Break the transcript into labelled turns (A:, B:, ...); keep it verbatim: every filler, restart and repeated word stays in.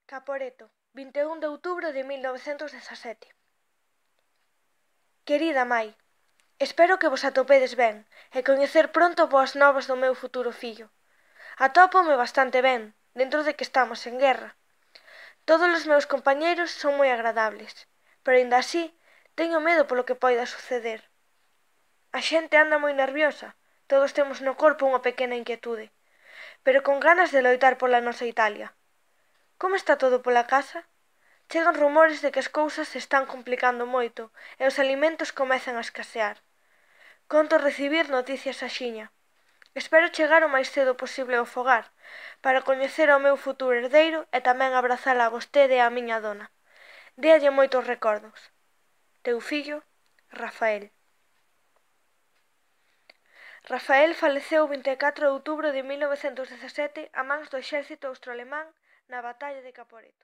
A: Caporeto, vinte e un de outubro de mil novecentos dezasete. Querida mai, espero que vos atopedes ben e coñecer pronto boas novas do meu futuro fillo. Atópome bastante ben, dentro de que estamos en guerra. Todos os meus compañeiros son moi agradables, pero aínda así teño medo polo que poida suceder. A xente anda moi nerviosa, todos temos no corpo unha pequena inquietude, pero con ganas de loitar pola nosa Italia. Como está todo pola casa? Chegan rumores de que as cousas se están complicando moito e os alimentos comezan a escasear. Conto recibir noticias axiña. Espero chegar o máis cedo posible ao fogar, para coñecer ao meu futuro herdeiro e tamén abrazala a vostede e a miña dona. Déalle moitos recordos. Teu fillo, Rafael. Rafael faleceu o vinte e catro de outubro de mil novecentos dezasete a mans do exército austroalemán na batalla de Caporeto.